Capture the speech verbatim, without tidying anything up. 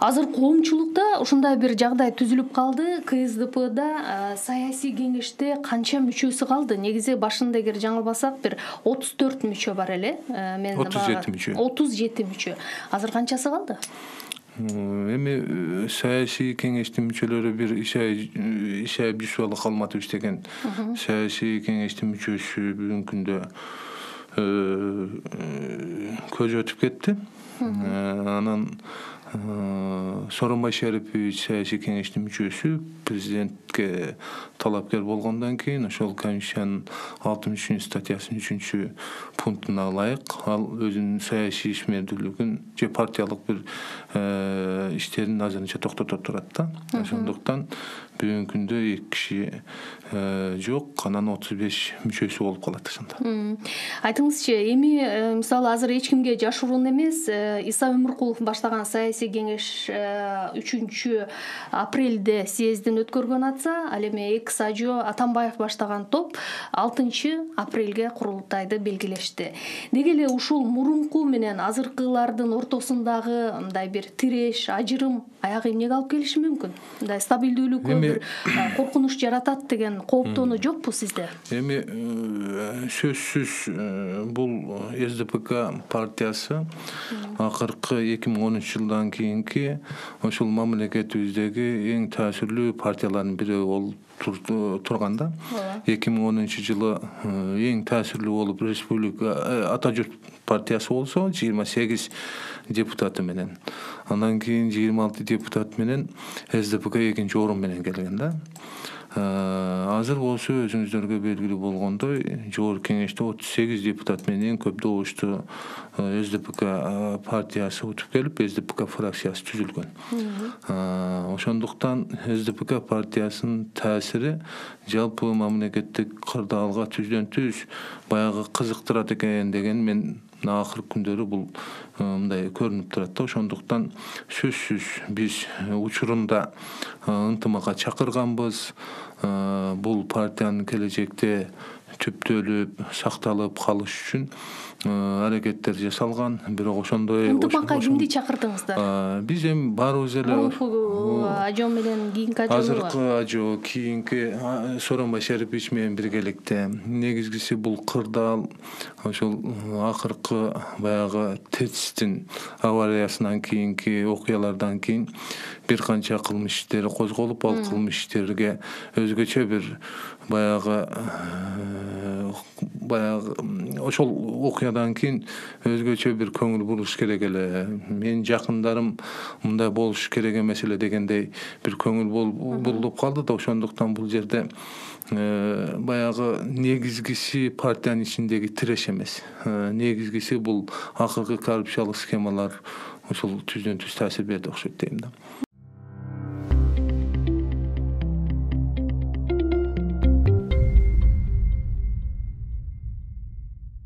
Азыр коомчулукта ушундай бир жагдай түзүлүп калды. КСДПда саясий кеңеште канча мүчөсү калды? Негизи башында эгер жаңылбасак бир отуз төрт мүчө бар эле. Мен отуз жети мүчө. отуз жети мүчө. Азыр канчасы калды? Эми саясий кеңештин мүчөлөрү бир иш айып Жусупалы Калматович деген саясий кеңештин мүчөсү бүгүнкү күндө көз өтүп кетти. Анан Сооронбай Шарипович саясий кеңештин мүчөсү президентке талапкер болгондон кийин ошол Конституциянын алтымыш үчүнчү статьясынын үчүнчү пунктуна ылайык ал өзүнүн саясий ишмердүүлүгүн же партиялык бир иштерин азырынча токтото турат да. Ошондуктан бүгүнкү күндө эки киши жок, анан отуз беш мүчөсү болуп калат ошондо. Айтыңызчы, эми мисалы азыр эч кимге жашыруун эмес, Иса Өмүркулов баштаган саясий кеңеш үчүнчү апрелде съездин өткөргөн атса, ал эми экс Ажо Атамбаев баштаган топ алтынчы апрелге курултайды белгилешти. Деги эле ушул мурунку менен азыркылардын ортосундагы мындай бир тиреш, ажырым аягы эмнеге алып келиши мүмкүн? Мындай стабилдүүлүккө бир коркунуч жаратат деген кооптонуу жокпу сизде? Эми сөзсүз бул СДПК партиясы акыркы эки миң онунчу жылдан кийинки ошол мамлекетибиздеги эң таасирлүү партиялардын бири болуп турган да. эки миң онунчу жылы эң таасирлүү болуп республика Ата журт партиясы болсо жыйырма сегиз депутаты менен, андан кийин жыйырма алты депутат менен СДПК экинчи орун менен келген да. Азыр болсо өзүңүздөргө белгилүү болгондой жогорку кеңеште отуз сегиз депутат менен көп добуштуу СДПК партиясы утуп келип, СДПК фракциясы түзүлгөн. Ошондуктан СДПК партиясынын таасири жалпы мамлекеттик кырдаалга түздөн түз баягы кызыктырат экен деген мен акыркы күндөрү бул мындай көрүнүп турат да. Ошондуктан сөзсүз биз учурунда ынтымакка чакырганбыз. Бул партиянын келечекте түптөлүп, сакталып калыш үчүн аракеттер жасалган. Бирок ошондой ынтымакка кимди чакырдыңыздар? Биз эми баарыбыз эле Ажо менен кийинки Ажо, азыркы Ажо, кийинки Сооронбай Шарипович менен биргеликте. Негизгиси бул кырдаал ошол акыркы баягы ТЭЦтин авариясынан кийинки окуялардан кийин бир канча кылмыш иштери козголуп, ал кылмыш иштерге өзгөчө бир баягы баягы ошол окуядан кийин өзгөчө бир көңүл буруш керек эле. Менин жакындарым мындай болуш керек эмес эле дегендей бир көңүл бурулуп калды да. Ошондуктан бул жерде баягы негизгиси партиянын ичиндеги тиреш эмес. Негизгиси бул акыркы коррупциялык схемалар ошол түздөн түз таасир берди окшойт дейм да.